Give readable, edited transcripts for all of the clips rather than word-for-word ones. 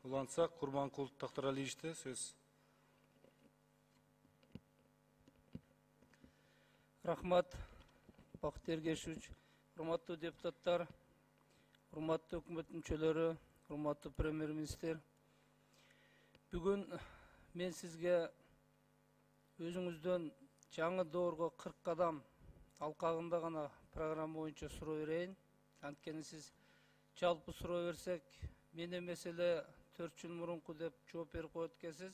улантсак, Курманкул Тактаралиевичте сөз. Рахмат, Бакыт Эргешевич, урматтуу депутаттар, урматтуу өкмөт мүчөлөрү, урматтуу премьер-министр. Бүгүн мен сизге өзүңүздөн жаңы доорго 40 кадам алкагында гана программа боюнча суроо берейин. Анткени сиз жалпы суроо берсек, мен эмес эле 4 жыл мурунку деп жооп берип коет экенсиз.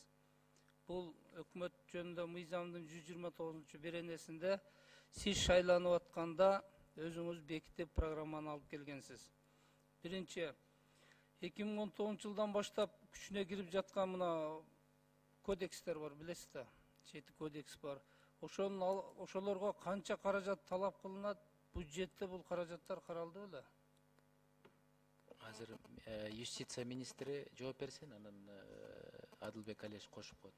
Бул өкмөт жөнүндө мыйзамдын 129 беренесинде сиз шайланып атканда өзүңүз бекитип программаны алып келгенсиз. Биринчи, 2019 жылдан баштап күчүнө кирип жаткан мына кодекстер бар, билесиз да, 7 кодекс бар. Ошолорго канча каражат талап кылынат? Бюджетте бул каражаттар каралды беле? Азыр юстиция министри жооп берсин, анан Адылбек Алиевич кошуп коет.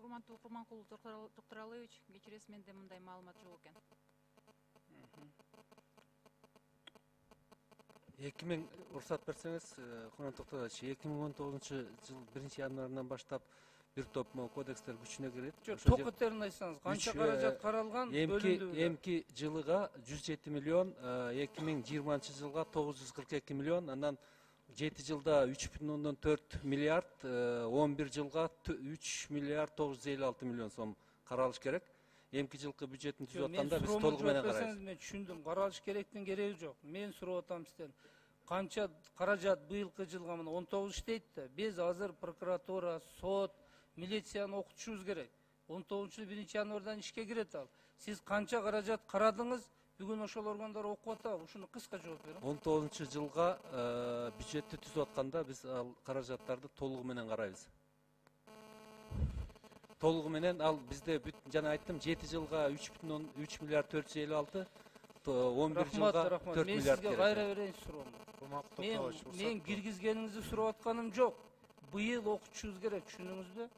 Урматтуу Курманкул Тактаралиевич, кечиресиз, менде мындай маалымат жок экен. 2000 уруксат берсеңиз, Курманкул Тактаралиевич, 2019 жыл 1-январынан баштап бир топ кодекстер күчүнө кирет. Ток этерин айтсаңыз, канча каражат каралган? Эмки жылыга 107 миллион, 2020 жылга 942 миллион, анан 7 жылда 3,4 миллиард, 11 жылга 3 миллиард 956 миллион сом каралыш керек. Эмки жылкы бюджеттин түзүп атканда биз толугу менен карайбыз. Мен түшүндүм, каралыш керектин кереги жок. Мен сурап атам сизден. Канча каражат быйылкы жылга мына 19 иштейт да. Биз азыр прокуратура, сот, милицияны окутушубуз керек. 19 1-январдан ишке кирет ал. Сиз канча каражат карадыңыз? Бүгүн ошол органдар окуп атабы? Ушуну кыска жооп бериң. 19 жылга бюджетти түзүп атканда биз ал каражаттарды толугу менен карайбыз. Толугу менен ал бизде жана айттым, 7 жылга 3 миллиард 456, 11 жылга 4 Мен миллиард сизге керек. кайра берейин суроомду. Мен киргизгениңизди сурап атканым жок. Быйыл окутушубуз керек, түшүндүңүзбү?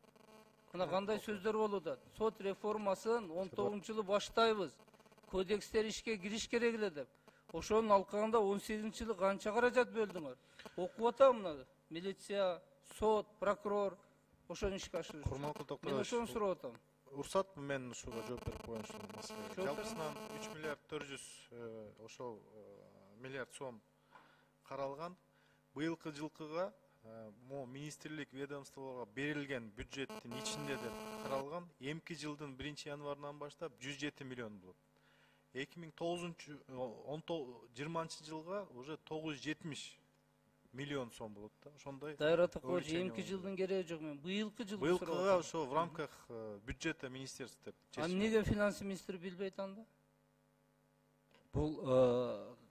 Мына кандай сөздөр болуп атат. Сот реформасын 19 жылы баштайбыз. Кодекстер ишке кириш керек эле деп. Ошонун алкагында 18 жылы канча каражат бөлдүңөр? Окуп атам мына. Милиция, сот, прокурор ошону ишке ашырыш. Курманкул Тактаралиевич, мен ошону сурап атам. Уруксат мен ушуга жооп берип коеюн ушул маселеге. Жалпысынан 3 миллиард 400 ошол миллиард сом каралган. Быйылкы жылкыга министрлик ведомстволорго берилген бюджеттин ичинде деп каралган. Эмки жылдын 1-январынан баштап 107 миллион болот. 2020 жылга уже 970 миллион сом болот да. Ошондой. Дайыр Атакович, эмки жылдын кереги жок, мен быйылкы жылды сурап атам. Быйылкыга ошо в рамках бюджета министерства деп. Аны неге финанс министри билбейт анда? Бул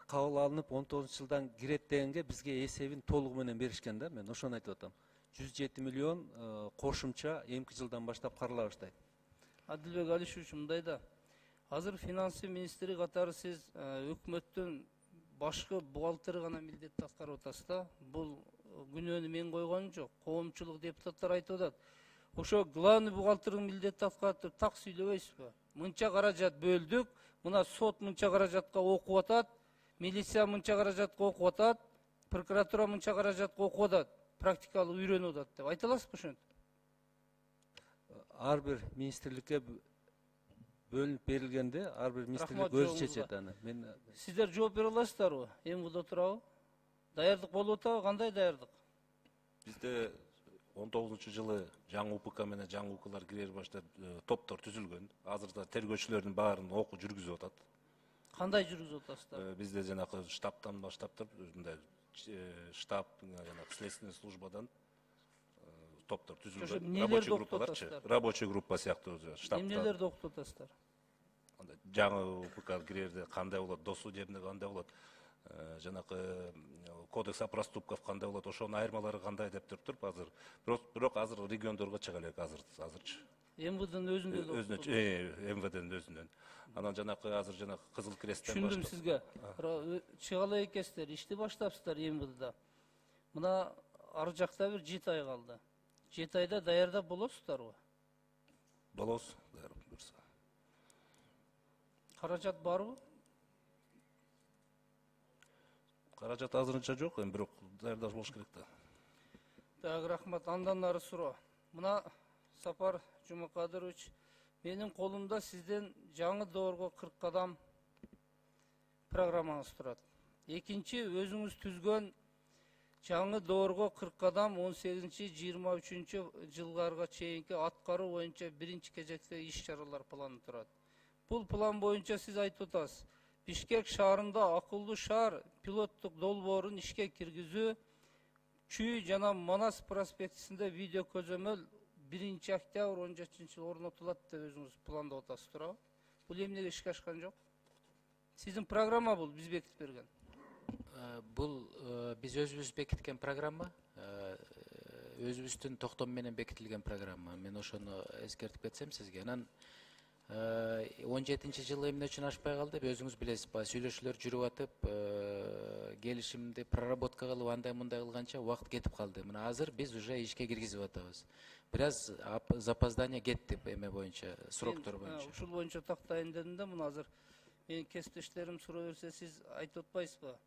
кабыл алынып 19 жылдан кирет дегенге бизге эсебин толугу менен беришкен да, мен ошону айтып атам. 107 миллион кошумча эмки жылдан баштап карала баштайт. Адылбек Алишевич, мындай да. Азыр финанс министри катары сиз өкмөттүн башкы бухгалтери гана милдетти аткарып атасыз да. Бул күнөөнү мен койгонум жок. Коомчулук депутаттар айтып атат. Ошо главный бухгалтердин милдетти аткарат деп так сүйлөбөйсүзбү? Мынча каражат бөлдүк, мына сот мынча каражатка окуп атат, милиция мынча каражатка окуп атат, прокуратура мынча каражатка окуп атат, практикалык үйрөнүп атат деп айта аласызбы ошентип? Ар бир министрликке бөлүнүп берилгенде, ар бир министрлик өзү чечет аны. Мен сиздер жооп бере аласыздарбы? МВД турабы? Даярдык болуп атабы? Кандай даярдык? Бизде 19 жылы жаңы УПК менен жаңы УКЛар кире баштап топтор түзүлгөн. Азырда тергөөчүлөрдүн баарын окуу жүргүзүп атат. Кандай жүргүзүп атасыздар? Бизде жанагы штабтан баштап туруп, мындай штаб, жанагы следственный службадан топтор түзүлгөн. Рабочий группаларчы, рабочий группа сыяктуу штабтан. Эмнелерди окутуп атасыздар? Жаңы УПК кирерде кандай болот, досудебный кандай болот, жанакы кодекс о проступках кандай болот, ошонун айырмалары кандай деп туруп азыр. Бирок азыр региондорго чыга элек азырчы. МВДнын өзүндө да. МВДнын өзүнөн. Анан жанакы азыр жанакы Кызыл Кресттен түшүндүм сизге. Чыга элек экенсиздер, ишти баштапсыздар МВДда. Мына ар жакта бир 7 ай калды. 7 айда даярдап болосуздарбы? Болобуз, даярдап буюрса. Каражат барбы? Каражат азырынча жок, эми бирок даярдаш болуш керек да. Дагы рахмат. Андан ары суроо. Мына Сапар Жумакадырович, менин колумда сизден жаңы доорго 40 кадам программаңыз турат. Экинчи, өзүңүз түзгөн жаңы доорго 40 кадам 18-23 жылдарга чейинки аткаруу боюнча биринчи кезекте иш-чаралар планы турат. Бул план боюнча сиз айтып атасыз, Бишкек шаарында акылдуу шаар пилоттук долбоорун ишке киргизүү, Чүй жана Манас проспектисинде видео көзөмөл 1-октябрь 17 орнотулат деп өзүңүз пландап атасыз туурабы? Бул эмнеге ишке ашкан жок? Сиздин программа бул, биз бекитип берген. Бул биз өзүбүз бекиткен программа, өзүбүздүн токтом менен бекитилген программа. Мен ошону эскертип кетсем сизге. Анан 17 жылы эмне үчүн ашпай калды? Өзүңүз билесиз, сүйлөшүүлөр жүрүп атып, келишимди проработка кылып андай мындай кылганча убакыт кетип калды. Мына азыр биз уже ишке киргизип атабыз. Бир аз запоздание кетти эме боюнча, сроктор боюнча. Ушул боюнча тактайын дедим да, мына азыр менин кесиптештерим суроо берсе, сиз айтып атпайсызбы?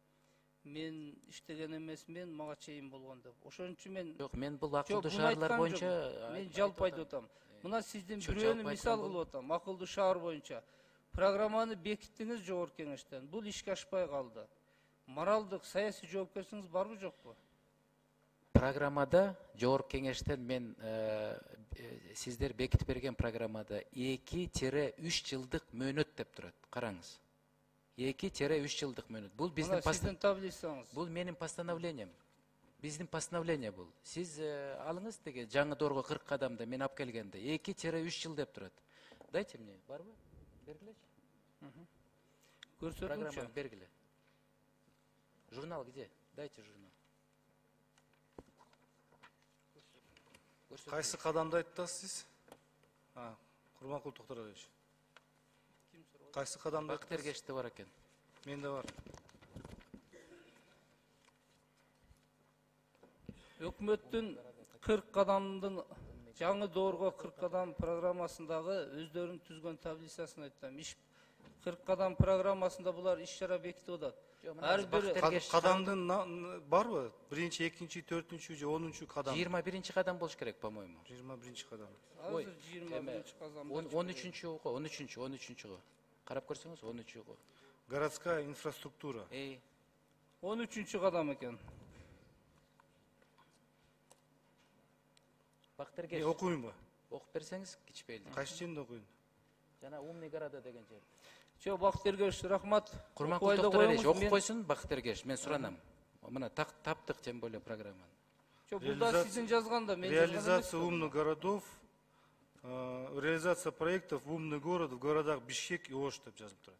Мен иштеген эмесмин, мага чейин болгон деп. Ошон үчүн мен Жок, мен бул акылдуу шаарлар боюнча мен жалпы айтып атам. Мына сиздин бирөөнү мисал кылып атам. Акылдуу шаар боюнча программаны бекиттиңиз жогорку кеңештен. Бул ишке ашпай калды. Моралдык, саясий жоопкерчилигиңиз барбы жокпу? Программада жогорку кеңештен мен сиздер бекитип берген программада 2-3 жылдык мөөнөт деп турат. Караңыз. 2-3 жылдык мөөнөт. Бул биздин таблицаңыз. Бул менин постановлением. Биздин постановление бул. Сиз алыңыз деге жаңы доорго 40 кадамда мен алып келгенде 2-3 жыл деп турат. Дайте мне, барбы? Бергилечи. Көрсөтүңчү. Программаны бергиле. Журнал где? Дайте журнал. Кайсы кадамды айттыңыз сиз? Курманкул Токторалиевич. Кайсы кадамды айттыңыз? Бактергеште бар экен. Менде бар. Өкмөттүн 40 кадамдын жаңы доорго 40 кадам программасындагы өздөрүнүн түзгөн таблицасын айтам. 40 кадам программасында булар иш-чара бекитип атат. Ар бир кадамдын барбы? 1-чи, 2-чи, 4-чү же 10-чу кадам? 21-чи кадам болуш керек, по-моему. 21-чи кадам. Азыр 21-чи кадам. 13-чү го, 13-чү го. Карап көрсөңүз, 13-чү го. Городская инфраструктура. 13-чү кадам экен. Бактергеш. Окуймунбу? Окуп берсеңиз кичпейли. Кайсы жерде окуйм? Жана умный города деген жер. Жок, Бактергеш, рахмат. Курманкул Токторалиевич, окуп койсун Бактергеш, мен суранам. Мына таптык тем более программаны. Жок, бул да сиздин жазганда, мен жазган эмес. Реализация умных городов, реализация проектов в умный город в городах Бишкек и Ош деп жазылып турат.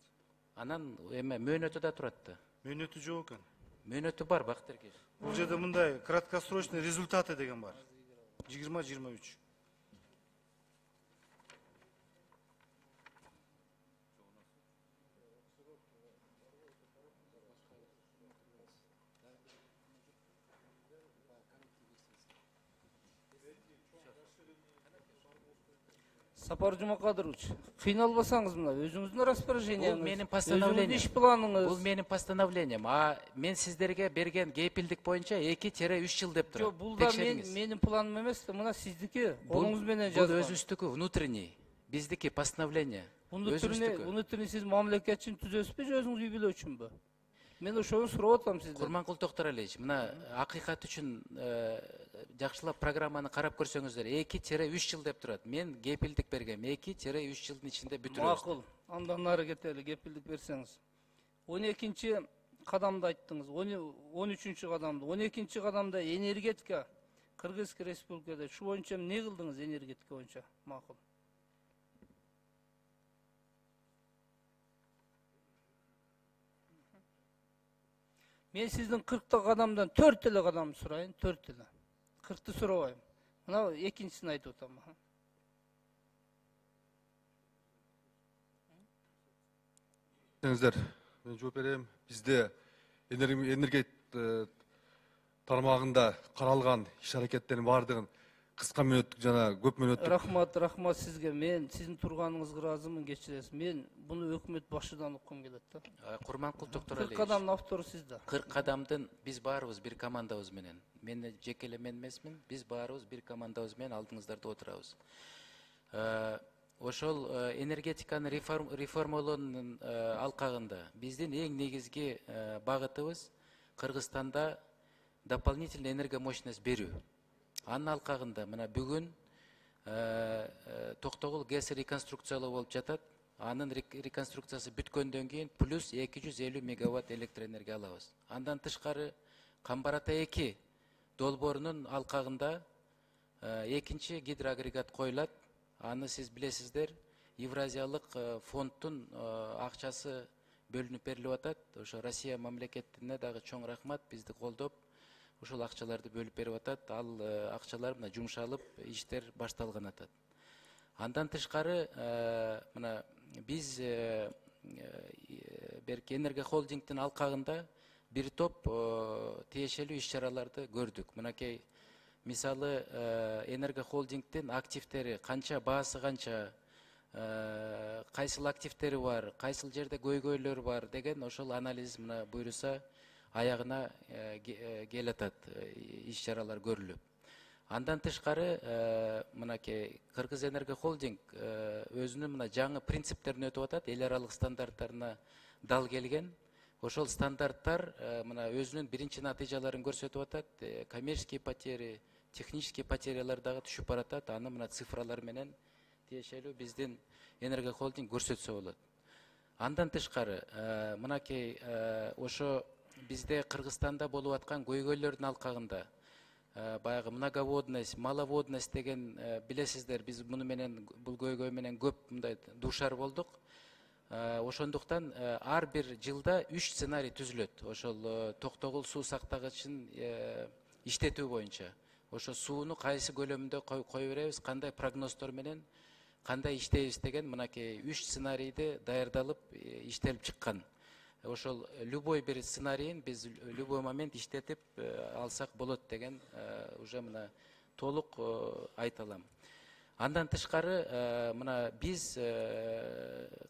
Анан эме мөөнөтү да турат да. Мөөнөтү жок экен. Мөөнөтү бар Бактергеш. Бул жерде мындай краткосрочный результаты деген бар. 20-23. Сапар Жумакадырович, кыйналбасаңыз мына өзүңүздүн распоряжениеңиз. Бул менин постановлением. Иш планыңыз. Бул менин постановлением. А мен сиздерге берген кепилдик боюнча 2-3 жыл деп турат. Жок, бул да менин планым эмес, мына сиздики. Колуңуз менен жазган. Бул өзүбүздүкү, внутренний. Биздики постановление. Внутренний сиз мамлекет үчүн түзөсүзбү же өзүңүз үй бүлө үчүнбү? Мен ошону сурап атам сизден. Курманкул Токторалиевич, мына акыйкат үчүн жакшылап программаны карап көрсөңүздөр, 2-3 жыл деп турат. Мен кепилдик бергем, 2-3 жылдын ичинде бүтүрөбүз. Макул, андан ары кетели, кепилдик берсеңиз. 12-чи кадамды айттыңыз, 13-чү кадамды. 12-чи кадамда энергетика, Кыргызстан Республикада. Шу боюнча эмне кылдыңыз энергетика боюнча? Макул. Мен сиздин 40 кадамдан 4 эле кадамды сурайын, 4 эле. 40-ты сурабайм. Мына экинчисин айтып атам. Мен жооп берем. Бизде энергет тармагында каралган иш-аракеттердин баардыгын кыска мүнөттүк жана көп мүнөттүк. Рахмат сизге. Мен сиздин турганыңызга ыраазымын, кечиресиз. Мен буну өкмөт башыдан уккум келет да. Курманкул 40 Токтуралиевич, кадамдын автору сиз да. 40 кадамдын биз баарыбыз бир командабыз менен. Мен жеке эле мен эмесмин, биз баарыбыз бир командабыз менен алдыңыздарда отурабыз. Ошол энергетиканы реформалоонун алкагында биздин эң негизги багытыбыз Кыргызстанда дополнительный энергомощность берүү. Анын алкагында мына бүгүн Токтогул ГЭС реконструкциялоо болуп жатат. Анын реконструкциясы бүткөндөн кийин плюс 250 мегаватт электроэнергия алабыз. Андан тышкары Камбар Ата 2 долбоорунун алкагында экинчи гидроагрегат коюлат. Аны сиз билесиздер, Евразиялык фонддун акчасы бөлүнүп берилип атат. Ошо Россия мамлекетине дагы чоң рахмат, бизди колдоп ушул акчаларды бөлүп берип атат. Ал акчалар мына жумшалып, иштер башталган атат. Андан тышкары мына биз берки Энерго холдингдин алкагында бир топ тиешелүү иш-чараларды көрдүк. Мынакей мисалы Энерго холдингдин активдери канча, баасы канча, кайсыл активдери бар, кайсыл жерде көйгөйлөр бар деген ошол анализ мына буйруса аягына келатат, иш-чаралар көрүлүп. Андан тышкары мынакей Кыргыз Энерго холдинг өзүнүн мына жаңы принциптерин өтүп атат, эл аралык стандарттарына дал келген. Ошол стандарттар мына өзүнүн биринчи натыйжаларын көрсөтүп атат. Коммерческий потери, технический потерялар дагы түшүп баратат. Аны мына цифралар менен тиешелүү биздин Энерго холдинг көрсөтсө болот. Андан тышкары мынакей ошо бизде Кыргызстанда болуп аткан көйгөйлөрдүн алкагында баягы многоводность, маловодность деген билесиздер, биз муну менен бул көйгөй менен көп мындай дуушар болдук. Ошондуктан ар бир жылда 3 сценарий түзүлөт. Ошол Токтогул суу сактагычын иштетүү боюнча. Ошо сууну кайсы көлөмүндө кое беребиз, кандай прогноздор менен кандай иштейбиз деген мынакей 3 сценарийди даярдалып иштелип чыккан. Ошол любой бир сценарийин биз любой момент иштетип алсак болот деген уже мына толук айта алам. Андан тышкары мына биз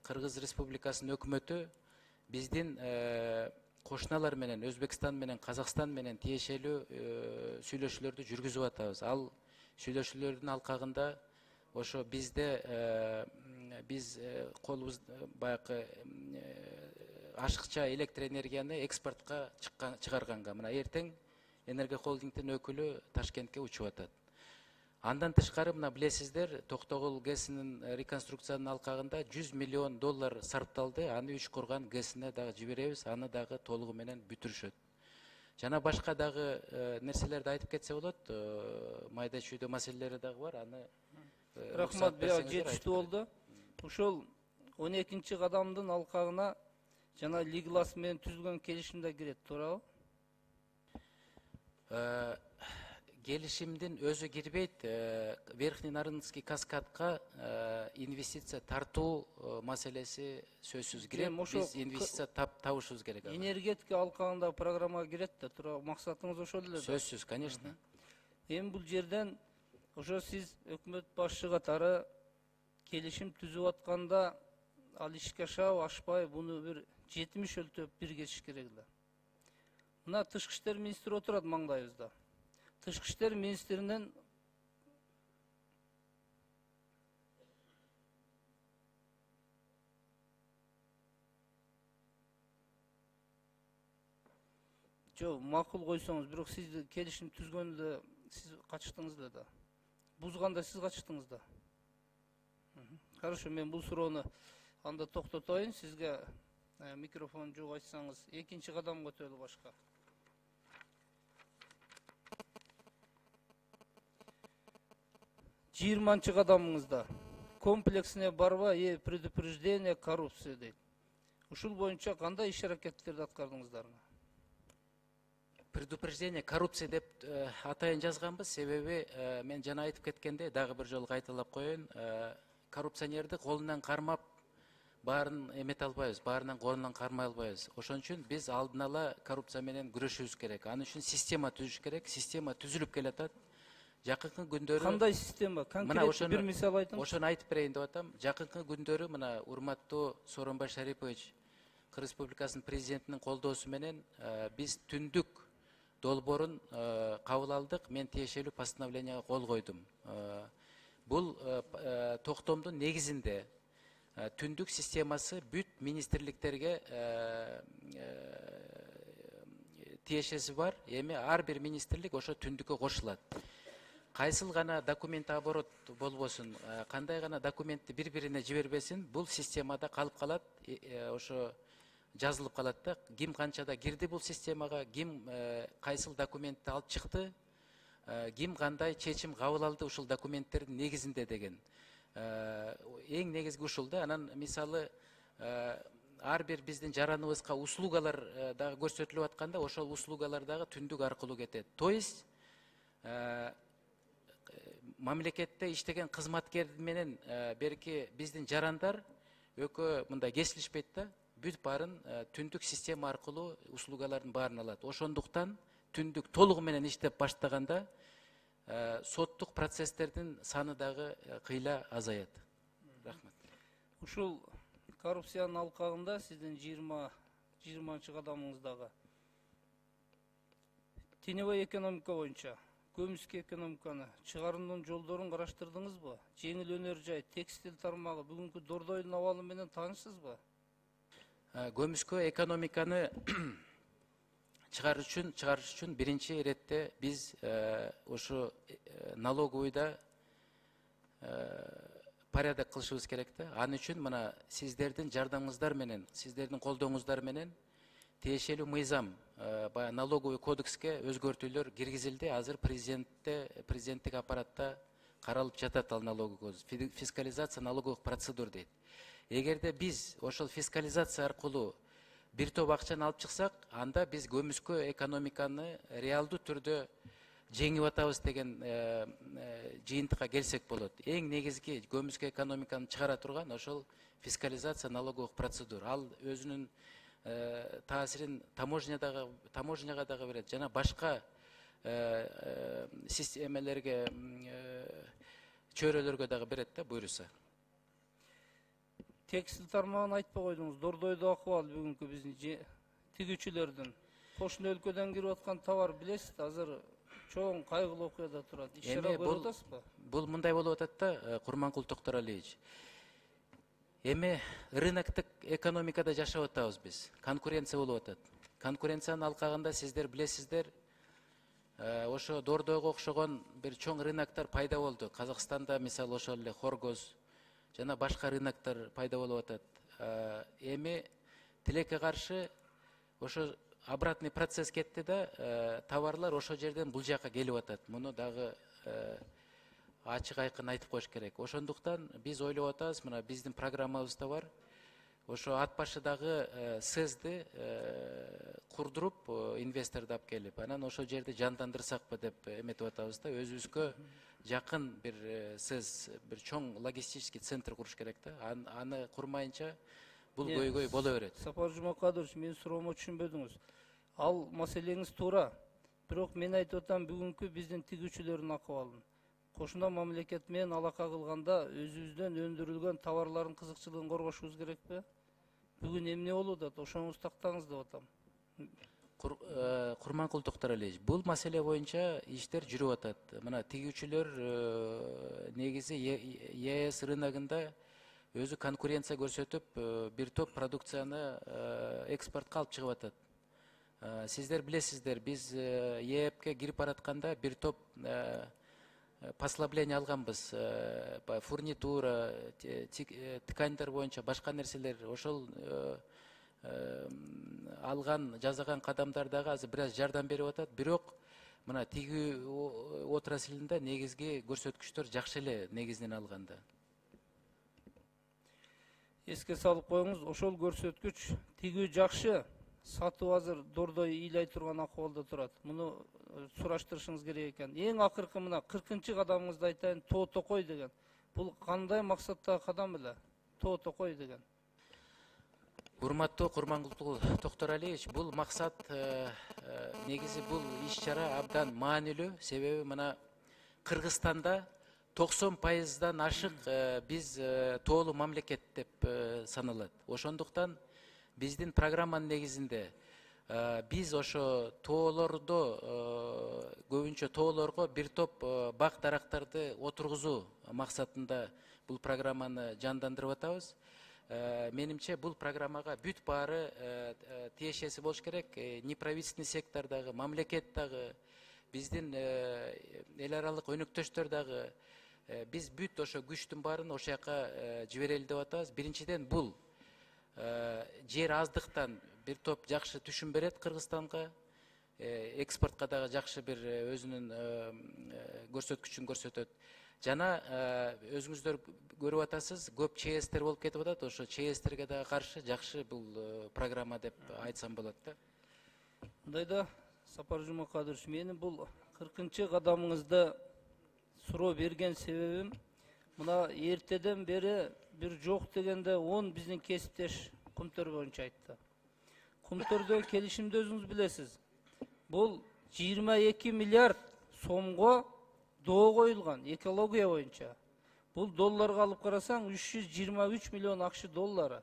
Кыргыз Республикасынын өкмөтү биздин кошуналар менен, Өзбекстан менен, Казакстан менен тиешелүү сүйлөшүүлөрдү жүргүзүп атабыз. Ал сүйлөшүүлөрдүн алкагында ошо бизде биз колубуз баягы ашыкча электроэнергияны экспортко чыгарганга мына эртең Энерго холдингдин өкүлү Ташкентке учуп атат. Андан тышкары мына билесиздер, Токтогул ГЭСинин реконструкциянын алкагында $100 миллион сарпталды. Аны Үчкурган ГЭСине дагы жиберебиз, аны дагы толугу менен бүтүрүшөт. Жана башка дагы нерселерди айтып кетсе болот, майда чүйдө маселелери дагы бар. Аны Рахмат, жетиштүү болду. Ушул 12-чи кадамдын алкагына жана Лиглас менен түзүлгөн келишим да кирет, туурабы? Келишимдин өзү кирбейт. Верхний Нарынский каскадка инвестиция тартуу маселеси сөзсүз кирет. Биз инвестиция табышыбыз керек. Энергетика алкагында программага кирет да, туурабы? Максатыңыз ошол эле да? Сөзсүз, конечно. Эми бул жерден ошо сиз өкмөт башчы катары келишим түзүп атканда ал ишке ашабы, ашпайбы, буну бир 70 өлтөп бир кетиш керек эле. Мына тышкы иштер министри отурат маңдайыбызда. Тышкы иштер министринин макул койсоңуз, бирок сиз келишим түзгөндө сиз качыктыңыз эле да. Бузганда сиз качыктыңыз да. Хорошо, мен бул суроону анда токтотоюн. Сизге микрофон жок айтсаңыз, экинчи кадамга өтөлү башка. Жыйырманчы кадамыңызда комплексное борьба предупреждение коррупции дейт. Ушул боюнча кандай иш-аракеттерди аткардыңыздар? Предупреждение коррупции деп атайын жазганбыз, себеби мен жана айтып кеткендей, дагы бир жолу кайталап коеюн, коррупционерди колунан кармап баарын эмете албайбыз, баарынан колунан кармай албайбыз. Ошон үчүн биз алдын ала коррупция менен күрөшүбүз керек. Анын үчүн система түзүш керек. Система түзүлүп келатат. жакынкы күндөрү Кандай система? Конкрет бир мисал айтыңыз. Ошону айтып берейин деп атам. Жакынкы күндөрү мына урматтуу Сооронбай Шарипович Кыргыз Республикасынын президентинин колдоосу менен биз түндүк долбоорун кабыл алдык. Мен тиешелүү постановленияга кол койдум. Бул токтомдун негизинде түндүк системасы бүт министрликтерге тиешеси бар. Эми ар бир министрлик ошо түндүккө кошулат. Кайсыл гана документ оборот болбосун, кандай гана документти бири-бирине жибербесин, бул системада калып калат, ошо жазылып калат да. Ким канчада кирди бул системага, ким кайсыл документти алып чыкты, ким кандай чечим кабыл алды ушул документтердин негизинде деген. Эң негизги ушул да. Анан мисалы ар бир биздин жараныбызга услугалар дагы көрсөтүлүп атканда, ошол услугалар дагы түндүк аркылуу кетет. То есть мамлекетте иштеген кызматкер менен берки биздин жарандар экөө мындай кесилишпейт да. Бүт баарын түндүк система аркылуу услугалардын баарын алат. Ошондуктан түндүк толугу менен иштеп баштаганда соттук процесстердин саны дагы кыйла азаят. Рахмат. Ушул коррупциянын алкагында сиздин 20-чы кадамыңыздагы теневой экономика боюнча көмүскө экономиканы чыгарууунун жолдорун караштырдыңызбы? Жеңил өнөр жай, текстиль тармагы, бүгүнкү Дордойдун абалы менен таанышсызбы? Көмүскө экономиканы чыгарыш үчүн биринчи иретте биз ошо налоговыйда порядок кылышыбыз керек да. Аны үчүн мына сиздердин жардамыңыздар менен, сиздердин колдооңуздар менен тиешелүү мыйзам, баягы налоговый кодекске өзгөртүүлөр киргизилди. Азыр президенттик аппаратта каралып жатат ал налоговый кодекс. Фискализация налоговых процедур дейт. Эгерде биз ошол фискализация аркылуу бир топ акчаны алып чыксак, анда биз көмүскө экономиканы реалдуу түрдө жеңип атабыз деген жыйынтыкка келсек болот. Эң негизги көмүскө экономиканы чыгара турган ошол фискализация налоговых процедур. Ал өзүнүн таасирин таможняга дагы берет, жана башка системалерге, чөйрөлөргө дагы берет да, буйруса. Текстиль тармагын айтпай койдуңуз. Дордойдо акыбал бүгүнкү биздин тигүүчүлөрдүн кошуна өлкөдөн кирип аткан товар билесиз, азыр чоң кайгылуу окуяда турат. Иш-чара көрүп атасызбы? Бул мындай болуп атат да, Курманкул Токторалиевич. Эми рыноктук экономикада жашап атабыз биз. Конкуренция болуп атат. Конкуренциянын алкагында сиздер билесиздер, ошо Дордойго окшогон бир чоң рыноктор пайда болду. Казакстанда мисалы ошол эле Хоргоз жана башка рыноктор пайда болуп атат. Эми тилекке каршы ошо обратный процесс кетти да, товарлар ошол жерден бул жака келип атат. Муну дагы ачык айкын айтып коюш керек. Ошондуктан биз ойлоп атабыз, мына биздин программабызда бар. Ошо ат башыдагы СЭЗди курдуруп, инвесторду алып келип, анан ошол жерди жандандырсакпы деп эметип атабыз да. Өзүбүзгө жакын бир СЭЗ, бир чоң логистический центр куруш керек да. Аны курмайынча бул көйгөй боло берет. Сапар Жумакадырович, менин суроомо түшүнбөдүңүз. Ал маселеңиз туура. Бирок мен айтып атам, бүгүнкү биздин тигүүчүлөрдүн акыбалын. Кошуна мамлекет менен алака кылганда өзүбүздөн өндүрүлгөн товарлардын кызыкчылыгын коргошубуз керекпи? Бүгүн эмне болуп атат? Ошоңуз тактаңыз деп атам. Курманкул Токторалиевич, бул маселе боюнча иштер жүрүп атат. Мына тигүүчүлөр негизи ЕС рыногунда өзү конкуренция көрсөтүп, бир топ продукцияны экспортко алып чыгып атат. Сиздер билесиздер, биз ЕЭПке кирип баратканда бир топ послабление алганбыз. Фурнитура, тканьдар боюнча башка нерселер, ошол алган, жасаган кадамдар дагы азыр бир аз жардам берип атат. Бирок мына тигүү отраслында негизги көрсөткүчтөр жакшы эле негизинен алганда. Эске салып коюңуз, ошол көрсөткүч тигүү жакшы, сатуу азыр Дордой ыйлай турган акыбалда турат. Муну сураштырышыңыз керек экен. Эң акыркы мына 40-чы кадамыңызды айтайын, тоо токой деген. Бул кандай максаттагы кадам эле? Тоо токой деген. Урматтуу Курманкул Токторалиевич, бул максат негизи бул иш-чара абдан маанилүү. Себеби мына Кыргызстанда 90%-дан ашык биз тоолуу мамлекет деп саналат. Ошондуктан биздин программанын негизинде биз ошо тоолордо көбүнчө тоолорго бир топ бак дарактарды отыргузуу максатында бул программаны жандандырып атабыз. Менимче бул программага бүт баары тиешеси болуш керек. Неправительственный сектор дагы, мамлекет дагы, биздин эл аралык өнөктөштөр дагы, биз бүт ошо күчтүн баарын ошол жака жиберели деп атабыз. Биринчиден бул жер аздыктан бир топ жакшы түшүм берет Кыргызстанга, экспортко дагы жакшы бир өзүнүн көрсөткүчүн көрсөтөт. Жана өзүңүздөр көрүп атасыз, көп ЧСТер болуп кетип атат. Ошо ЧСТерге дагы каршы жакшы бул программа деп айтсам болот да. Мындайда, Сапар Жумакадырович, менин бул 40-чы кадамыңызда суроо берген себебим, мына эртеден бери бир жок дегенде 10 биздин кесиптеш Кумтөр боюнча айтты. Кумтөрдө келишимди өзүңүз билесиз. Бул 22 миллиард сомго доо коюлган экология боюнча. Бул долларга алып карасаң 323 миллион акш доллары.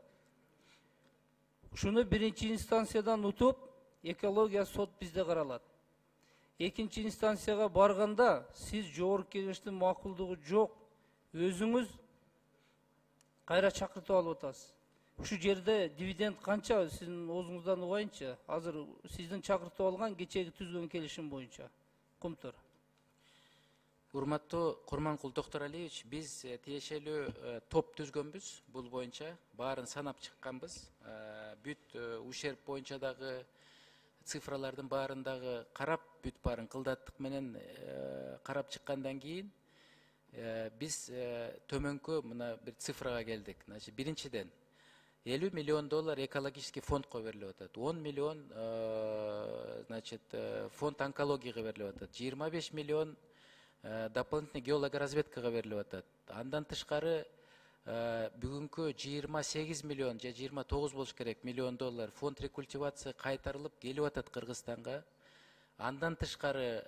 Ушуну биринчи инстанциядан утуп, экология сот бизде каралат. Экинчи инстанцияга барганда сиз жогорку кеңештин макулдугу жок, өзүңүз кайра чакыртып алып атасыз. Ушу жерде дивиденд канча сиздин оозуңуздан угайынчы? Азыр сиздин чакыртып алган кечеги түзгөн келишим боюнча. Кумтөр. Урматтуу Курманкул Токторалиевич, биз тиешелүү топ түзгөнбүз бул боюнча. Баарын санап чыкканбыз. Бүт ущерб боюнча дагы цифралардын баарын дагы карап, бүт баарын кылдаттык менен карап чыккандан кийин биз төмөнкү мына бир цифрага келдик. Значит, биринчиден 50 миллион доллар экологический фондко берилип атат. 10 миллион значит, фонд онкологияга берилип атат. 25 миллион дополнительный геологоразведкага берилип атат. Андан тышкары бүгүнкү 28 миллион же 29 болуш керек миллион доллар фонд рекультивация кайтарылып келип атат Кыргызстанга. Андан тышкары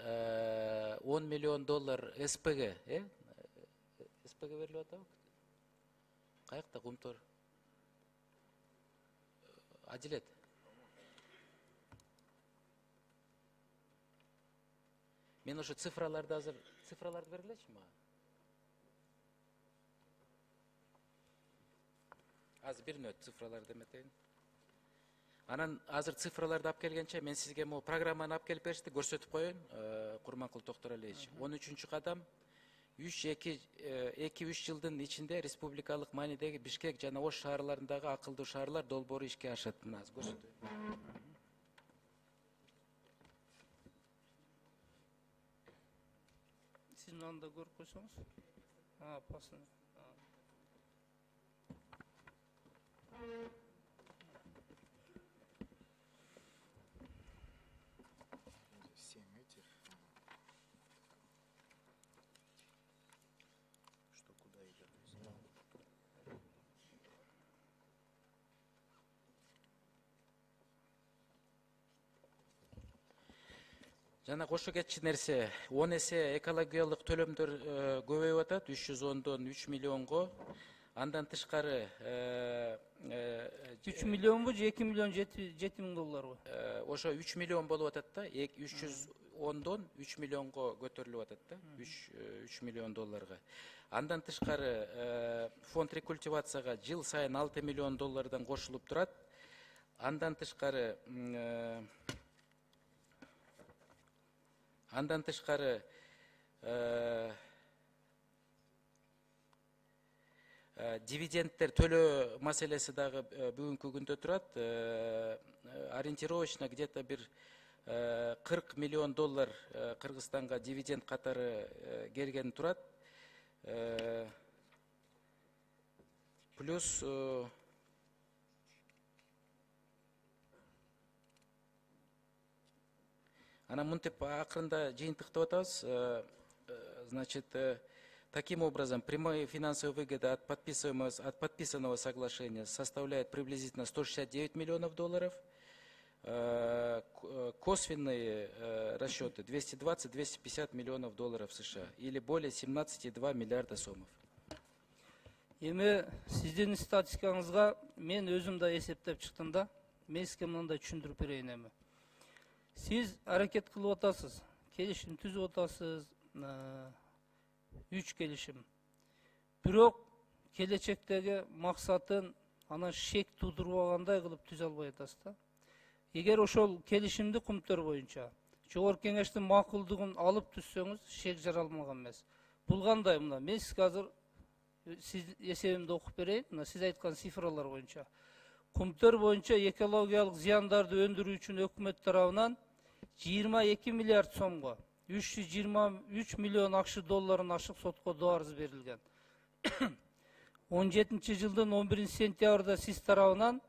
10 миллион доллар СПГ, СПГ берилип атабы? Каякта Кумтөр? Адилет. Мен ошо цифраларды азыр цифраларды бергилечи мага? Азыр бир мүнөт цифраларды эметейин. Анан азыр цифраларды алып келгенче мен сизге могу программаны алып келип беришти, көрсөтүп коеюн. Курманкул Токторалиевич, 13-чү кадам 2-3 жылдын ичинде республикалык маанидеги Бишкек жана Ош шаарларындагы акылдуу шаарлар долбоору ишке ашат. Мына азыр көрсөтөйүн. Сиз мынанда көрүп койсоңуз. Пасын. Жана кошо кетчү нерсе, 10 эсе экологиялык төлөмдөр көбөйүп атат, 310дон 3 миллионго. Андан тышкары 3 миллионбу же 2 миллион 7 миң долларбы? Ошо 3 миллион болуп атат да, 310дон 3 миллионго көтөрүлүп атат да, 3 миллион долларга. Андан тышкары фонд рекультивацияга жыл сайын 6 миллион доллардан кошулуп турат. Андан тышкары дивидендтер төлөө маселеси дагы бүгүнкү күндө турат. Ориентировочно где-то бир 40 миллион доллар Кыргызстанга дивиденд катары келген турат. Плюс анан мынтип акырында жыйынтыктап атабыз. Значит, таким образом, прямые финансовые выгоды от подписанного соглашения составляют приблизительно 169 миллионов долларов. косвенные расчеты 220-250 миллионов долларов США или более 17,2 миллиарда сомов. Эми сиздин статистикаңызга мен өзүм да эсептеп чыктым да. Мен сизге мындай түшүндүрүп берейин эми. Сиз аракет кылып атасыз, келишим түзүп атасыз, 3 келишим. Бирок келечектеги максатын анан шек тудурбагандай кылып түзө албай атасыз да. Эгер ошол келишимди кумтөр боюнча жогорку кеңештин макулдугун алып түзсөңүз, шек жаралмаган эмес. Бул кандай мына? Мен сизге азыр сиз эсебимди окуп берейин. Мына сиз айткан цифралар боюнча. Кумтөр боюнча экологиялык зыяндарды өндүрүү үчүн өкмөт тарабынан 22 миллиард сомго 323 миллион акш долларын ашык сотко доо арыз берилген. 17-жылдын 11-сентябрда сиз тарабынан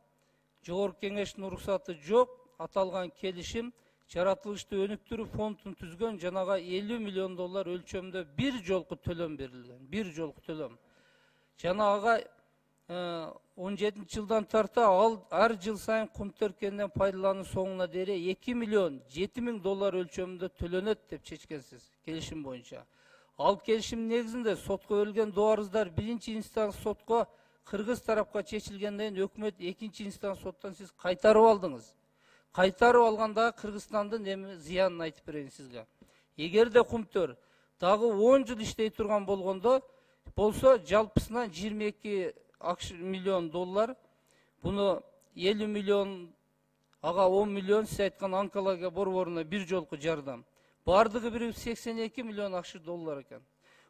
жогорку кеңештин уруксаты жок аталган келишим жаратылышты өнүктүрүү фондун түзгөн жанага 50 миллион доллар өлчөмдө бир жолку төлөм берилген. Бир жолку төлөм. Жана ага 17-жылдан тарта ар жыл сайын кумтөр кенинен пайдалануу соңуна дейре 2 миллион 7 миң доллар өлчөмүндө төлөнөт деп чечкенсиз келишим боюнча. Ал келишим негизинде сотко берилген доо арыздар биринчи инстанс сотко кыргыз тарапка чечилгенден кийин өкмөт экинчи инстанс соттон сиз кайтарып алдыңыз. Кайтарып алганда Кыргызстандын эми зыянын айтып берейин сизге. Эгерде кумтөр дагы 10 жыл иштей турган болсо жалпысынан 22 миллион доллар, буну 50 миллион, ага 10 миллион сиз айткан онкология борборуна бир жолку жардам. Бардыгы бири 82 миллион акш доллар экен.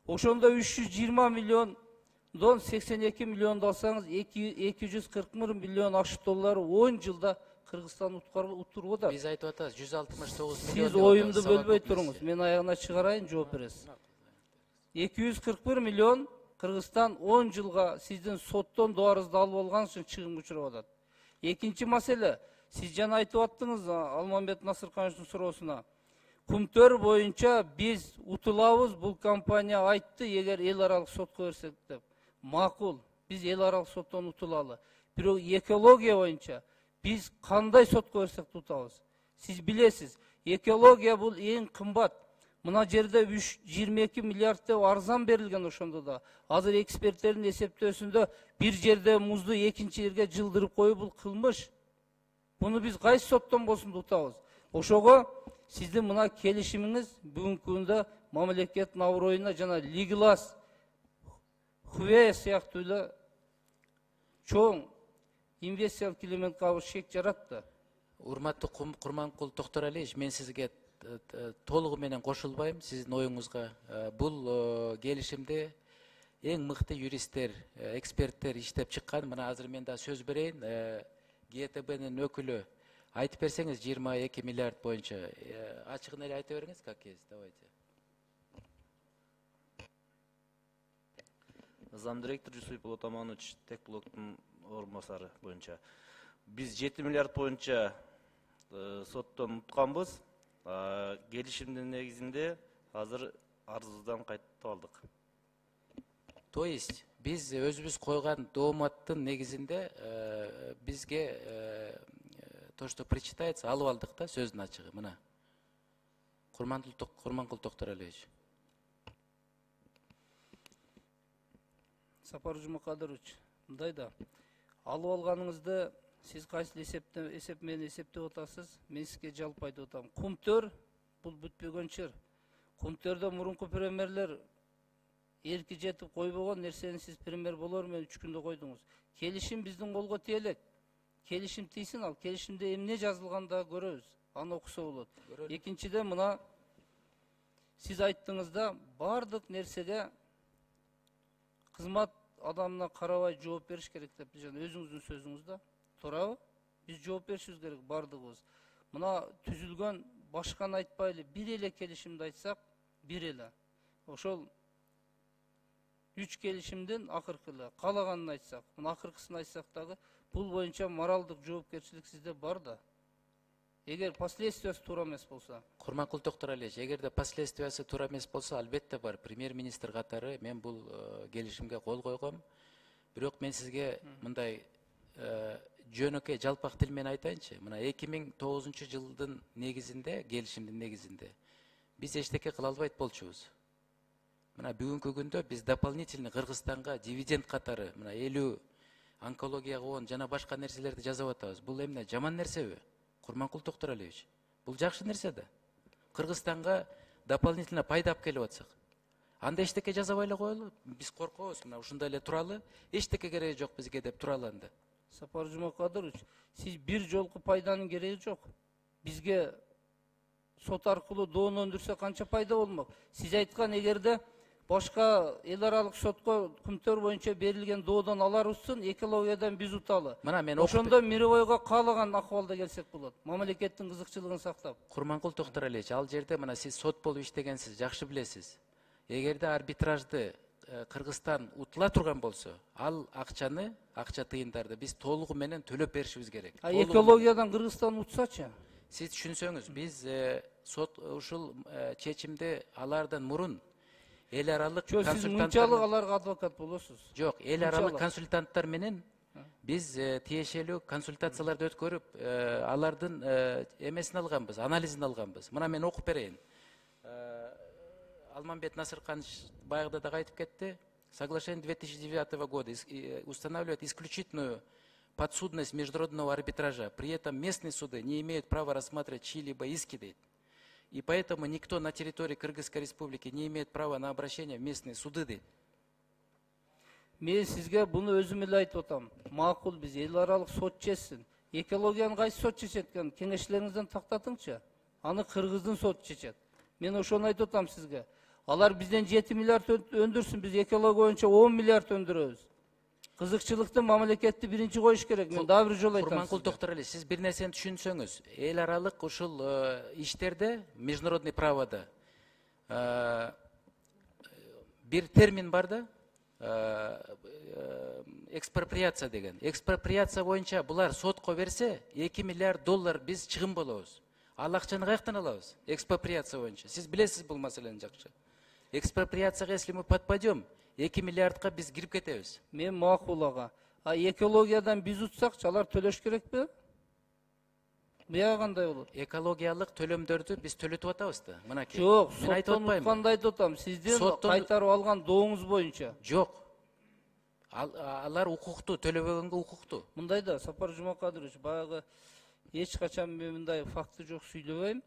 Ошондо 320 миллиондон 82 миллионду алсаңыз 240 миллион акш доллары 10 жылда Кыргызстан утуруу да. Биз айтып атабыз 169 миллион. Сиз оюмду бөлбөй туруңуз. Мен аягына чыгарайын, жооп бересиз. 241 миллион Кыргызстан 10 жылга сиздин соттон доо арызды алып алган үчүн чыгымга учурап атат. Экинчи маселе, сиз жана айтып аттыңыз Алмамбет Насыркановичтин суроосуна. Кумтөр боюнча биз утулабыз, бул компания айтты, эгер эл аралык сотко берсек деп. Макул, биз эл аралык соттон утулалы. Бирок экология боюнча биз кандай сотко берсек утабыз? Сиз билесиз, экология бул эң кымбат. Мына жерде 22 миллиард деп арзан берилген ошондо да. Азыр эксперттердин эсептөөсүндө бир жерде музду экинчи жерге жылдырып коюу бул кылмыш. Буну биз кайсы соттон болсун утабыз? Ошого сиздин мына келишимиңиз бүгүнкү күндө мамлекеттин аброюна жана Лиглас, Хувей сыяктуу эле чоң инвестициялык элементке шек жаратты. Урматтуу Курманкул Токторалиевич, мен сизге толугу менен кошулбайм сиздин оюңузга. Бул келишимде эң мыкты юристтер, эксперттер иштеп чыккан. Мына азыр мен да сөз берейин. ГТБнын өкүлү айтып берсеңиз 22 миллиард боюнча. Ачыгын эле айта бериңиз, как есть, давайте. Замдиректор Жусупов Отаманович Текблоктун орун басары боюнча. Биз 7 миллиард боюнча соттон утканбыз. Келишимдин негизинде азыр арыздан кайтып алдык. То есть биз өзүбүз койгон дооматтын негизинде бизге то, что причитается, алып алдык да, сөздүн ачыгы. Мына Курманкул Токторалиевич. Сапар Жумакадырович, мындай да, алып алганыңызды сиз кайсы эсеп менен эсептеп атасыз? Мен сизге жалпы айтып атам. Кумтөр бул бүтпөгөн чыр. Кумтөрдө мурунку премьерлер эрки жетип койбогон нерсени сиз премьер болор менен 3 күндө койдуңуз. Келишим биздин колго тиелек. Келишим тийсин, ал келишимде эмне жазылганда көрөбүз. Аны окусо болот. Экинчиден мына сиз айттыңызда бардык нерсеге кызмат адамына карабай жооп бериш керек деп жана өзүңүздүн сөзүңүздө. Туурабы? Биз жооп беришибиз керек бардыгыбыз. Мына түзүлгөн башканы айтпайлы, бир эле келишимди айтсак, бир эле. Ошол 3 келишимдин акыркы калаганын айтсак, мына акыркысын айтсак дагы, бул боюнча моралдык жоопкерчилик сизде бар да. Эгер последствиясы туура эмес болсо. Курманкул Токторалиевич, эгерде последствиясы туура эмес болсо, албетте бар. Премьер-министр катары мен бул келишимге кол койгом. Бирок мен сизге мындай жөнөкөй жалпак тил менен айтайынчы. Мына 2009-жылдын негизинде, келишимдин негизинде биз эчтеке кыла албайт болчубуз. Мына бүгүнкү күндө биз дополнительный Кыргызстанга дивиденд катары мына 50 онкологияга он жана башка нерселерди жасап атабыз. Бул эмне, жаман нерсеби? Курманкул Токтуралиевич, бул жакшы нерсе да. Кыргызстанга дополнительно пайда алып келип атсак, анда эчтеке жасабай эле коелу. Биз коркобуз, мына ушундай эле туралы, эчтеке кереги жок бизге деп туралы анда. Сапар Жумакадырович, сиз бир жолку пайданын кереги жок. Бизге сот аркылуу доон өндүрсө канча пайда болмок? Сиз айткан, эгерде башка эл аралык сотко күмтөр боюнча берилген доодон аларыбызсын, экологиядан биз уталы. Мына мен Ошондо мировойго каалаган акыбалда келсек болот. Мамлекеттин кызыкчылыгын сактап. Курманкул Токтуралиевич, ал жерде мына сиз сот болуп иштегенсиз, жакшы билесиз. Эгерде арбитражды Кыргызстан утула турган болсо, ал акча тыйындарды биз толугу менен төлөп беришибиз керек. Экологиядан Кыргызстан утсачы? Сиз түшүнсөңүз, биз сот ушул чечимди алардан мурун эл аралык Сиз мынчалык аларга адвокат болосуз. Жок, эл аралык консультанттар менен биз тиешелүү консультацияларды өткөрүп, алардын эмесин алганбыз, анализин алганбыз. Мына мен окуп берейин. Алмамбет Насырканович баягыда да айтып кетти. Соглашение 2009 года устанавливает исключительную подсудность международного арбитража. При этом местные суды не имеют права рассматривать чьи-либо иски, дейт. И поэтому никто на территории Кыргызской республики не имеет права на обращение в местные суды, дейт. Мен сизге буну өзүм эле айтып атам. Макул, биз эл аралык сот чечсин. Экологияны кайсы сот чечет экен? Кеңештериңизден тактатыңчы. Аны Кыргыздын соту чечет. Мен ошону айтып атам сизге. Алар бизден 7 миллиард өндүрсүн, биз экология боюнча 10 миллиард өндүрөбүз. Кызыкчылыкты, мамлекетти биринчи коюш керек. Мен дагы бир жолу айтам. Курманкул Токтуралиевич, сиз бир нерсени түшүнсөңүз, эл аралык ушул иштерде, международный правода бир термин бар да, экспроприация деген. Экспроприация боюнча булар сотко берсе, 2 миллиард доллар биз чыгым болобуз. Ал акчаны каяктан алабыз? Экспроприация боюнча. Сиз билесиз бул маселени жакшы. Экспроприацияга если мы подпадем, 2 миллиардка биз кирип кетебиз. Мен макул ага. А экологиядан биз утсакчы, алар төлөш керекпи? Буяга кандай болот? Экологиялык төлөмдөрдү биз төлөтүп атабыз да. Мынакей. Жок, мен айтып соттон атпаймынбы? утканды айтып атам. Сизден кайтарып алган дооңуз боюнча. Жок. Алар укуктуу, төлөбөгөнгө укуктуу. Мындай да, Сапар Жумакадырович, баягы эч качан мен мындай факты жок сүйлөбөйм.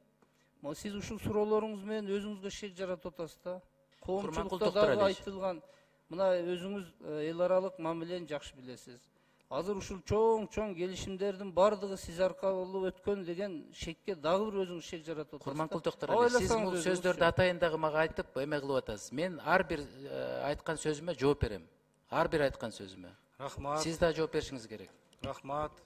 Сиз ушул суроолоруңуз менен өзүңүзгө шек жаратып атасыз да. Коомчулукта дагы айтылган, мына өзүңүз эл аралык мамилени жакшы билесиз. Азыр ушул чоң келишимдердин бардыгы сиз аркылуу өткөн деген шекке дагы бир өзүңүз шек жаратып атасыз. Курманкул Токтуралиевич, сиз бул сөздөрдү атайын дагы мага айтып эме кылып атасыз. Мен ар бир айткан сөзүмө жооп берем. Ар бир айткан сөзүмө. Рахмат. Сиз да жооп беришиңиз керек. Рахмат.